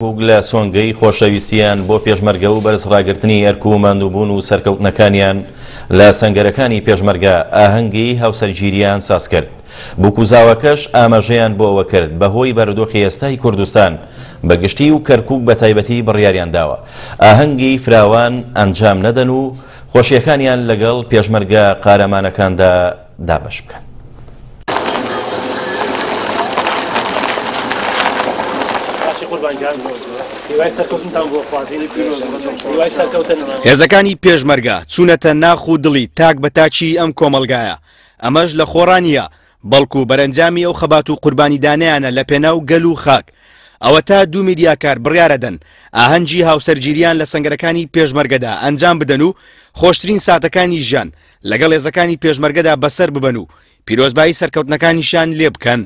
کەرکوک لە سۆنگەی خۆشەویستیان بۆ پێشمەرگە و بەرز ڕاگرتنی ئەرک و ماندووبوون و سەرکەوتنەکانیان لە سەنگەرەکانی پێشمەرگە ئاهەنگی هاوسەرگیریان سازکرد. بوک و زاواکەش ئاماژەیان بۆ ئەوە کرد بەهۆی بارودۆخی ئێستای کوردستان بە گشتی و کەرکوک بە تایبەتی بڕیاریان داوە ئاهەنگی فراوان ئەنجام نەدەن و خۆشیەکانیان لەگەڵ پێشمەرگە قارەمانەکاندا دابەش بکەن. هێزەکانی پێشمەرگە چوونەتە ناخ و دڵی تاک بە تاکی ئەم کۆمەڵگایە، ئەمەش لە خۆڕا نییە، بەڵکو بەرەنجامی ئەو خەبات و قوربانیدانەیانە لە پێناو گەل و خاک. ئەوەتا دوو میدیاکار بڕیارەدەن ئاهەنگی هاوسەرگیریان لە سەنگەرەکانی پێشمەرگەدا ئەنجام بدەن و خۆشترین ساتەکانی ژیان لەگەڵ هێزەکانی پێشمەرگەدا بەسەر ببەن و پیرۆزبایی سەرکەوتنەکانیشیان لێ بکەن.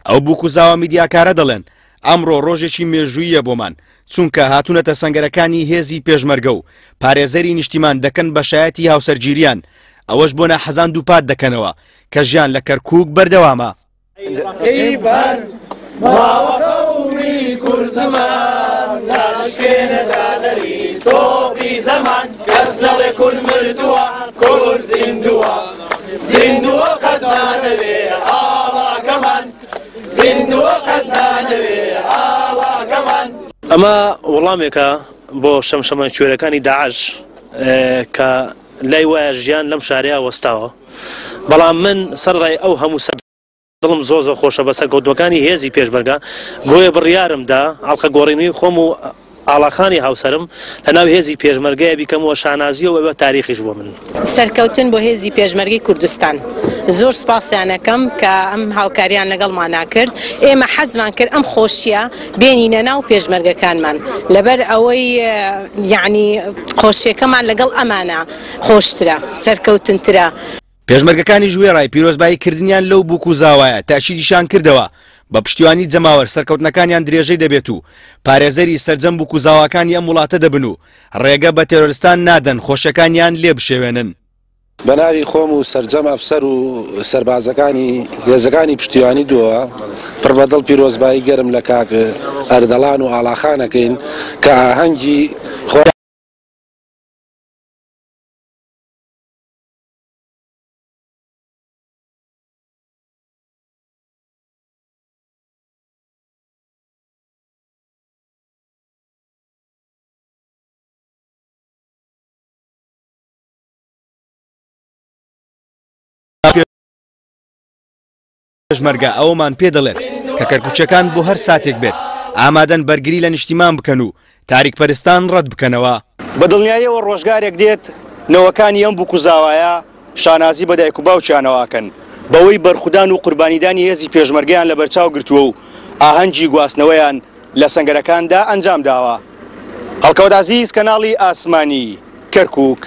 ئەو بووک و زاوا میدیاکارە دەڵێن، ئەمڕۆ ڕۆژێکی مێژووییە بۆمان، چونکە هاتوونەتە سەنگەرەکانی هێزی پێشمەرگە و پارێزەری نیشتیمان دەکەن بە شایەتی هاوسەرگیریان، ئەوەش بۆ ناحەزان دووپات دەکەنەوە کە ژیان لە کەرکووک بەردەوامە. ئەمە وەڵامێکە بۆ شەمشەمەکوێرەکانی داعش کە لای وایە ژیان لەم شارەیە وەستاوە، بەڵام من سەرەڕای ئەو هەموو دڵم زۆر زۆر خۆشە بە سەرکەوتووەکانی هێزی پێشمەرگە، بۆیە بڕیارم دا ئەڵقە گۆڕینی خۆم و ئاڵاخانی هاوسەرم لەناو هێزی پێشمەرگەیە بیکەم و شانازییە و ئەوە تاریخیش بۆ من. سەرکەوتن بۆ هێزی پێشمەرگەی کوردستان. زۆر سپاسیان ئەکەم کە ئەم هاوکاریان لەگەڵمانا کرد. ئێمە حەزمان کرد ئەم خۆشیە بێنینە ناو پێشمەرگەکانمان لەبەر ئەوەی یەعنی خۆشیەکەمان لەگەڵ ئەمانە خۆشترە، سەرکەوتنترە. پێشمەرگەکانیش وێڕای پیرۆزبایی کردنیان لەو بووک و زاوایە تەئکیدیشان کردەوە بە پشتیوانی جەماوەر سەرکەوتنەکانیان درێژەی دەبێت و پارێزەری سەرجەم بووک و زاواکانی ئەم وڵاتە دەبن و ڕێگە بە تێرۆرستان نادەن خۆشیەکانیان لێ بشێوێنن. بە ناوی خۆم و سەرجەم ئەفسەر و سەربازەکانی هێزەکانی پشتیوانی دووە پڕ بە دڵ پیرۆزبایی گەرم لە کاک ئەردەڵان و ئاڵاخان ئەکەین کە ئاهەنگی خۆیان پێشمەرگە ئەوەمان پێ دەڵێت کە کەرکوکیەکان بۆ هەر ساتێک بێت ئامادەن بەرگری لە نیشتیمان بکەن و تاریکپەرستان ڕەت بکەنەوە. بە دڵنیاییەوە ڕۆژگارێک دێت نەوەکانی ئەم بوک و زاوایە شانازی بە دایک و باوکیانەوە ئەکەن بەوەی بەرخودان و قوربانیدانی هێزی پێشمەرگەیان لەبەرچاو گرتووە و ئاهەنگی گواستنەوەیان لە سەنگەرەکاندا ئەنجامداوە. هەڵکەوت عەزیز، کەناڵی ئاسمانی، کەرکوک.